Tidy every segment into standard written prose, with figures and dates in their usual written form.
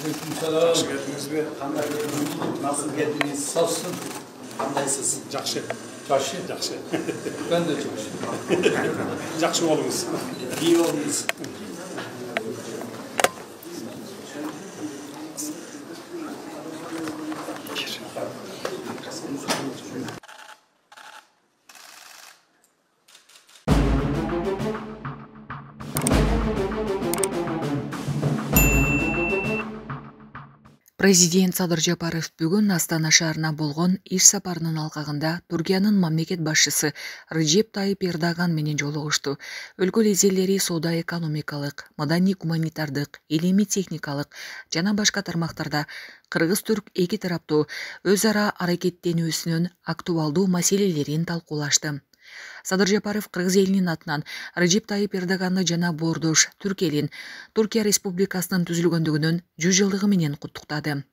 Aleykümselam. Hoş geldiniz be. Nasıl geldiniz? Sağsın. Kandaysız? Жақсы. Çarşı. Жақсы. Ben de çarşı. Жақсы болыңыз. İyi olmuş. Президент Садыр Жапаров бүгүн Астана шаарына болгон иш сапарынын алкагында Туркиянын мамлекет башчысы Режеп Тайип Эрдоган менен жолугушту. Өлкө лидерлери соода-экономикалык, маданий-гуманитардык, илимий-техникалык жана башка тармактарда кыргыз-түрк эки тараптуу өз ара аракеттенүүсүнүн актуалдуу маселелерин талкуулашты. Садыр Жапаров кыргыз элинин атынан Режеп Тайип Эрдоганды жана боордош түрк элин Туркия Республикасынын түзүлгөндүгүнүн 100 жылдыгы менен куттуктады.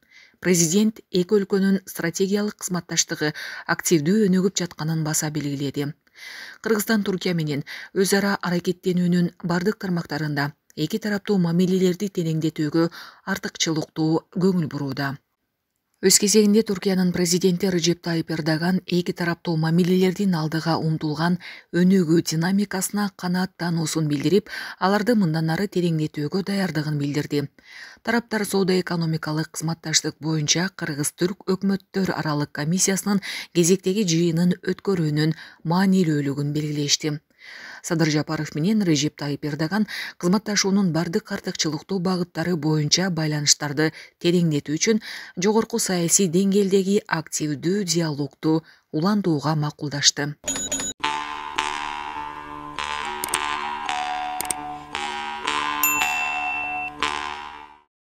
Президент эки өлкөнүн стратегиялык кызматташтыгы активдүү өнүгүп жатканын баса белгиледи. Кыргызстан Туркия менен өз ара аракеттенүүнүн бардык тармактарында эки тараптуу мамилелерди тереңдетүүгө артыкчылыктуу көңүл бурууда. Өз кезегинде Туркиянын президенти Режеп Тайип Эрдоган эки тараптуу мамилелердин алдыга умтулган өнүгүү динамикасына канааттануусун билдирип, аларды мындан ары тереңдетүүгө даярдыгын билдирди. Тараптар соода-экономикалык кызматташтык боюнча кыргыз-түрк өкмөттөр аралык комиссиясынын кезектеги жыйынын өткөрүүнүн маанилүүлүгүн белгилешти. Садыр Жапаров менен Режеп Тайип Эрдоган кызматташуунун бардык артыкчылыктуу багыттары боюнча байланыштарды тереңдетүү үчүн жогорку саясий деңгээлдеги активдүү диалогду улантууга макулдашты.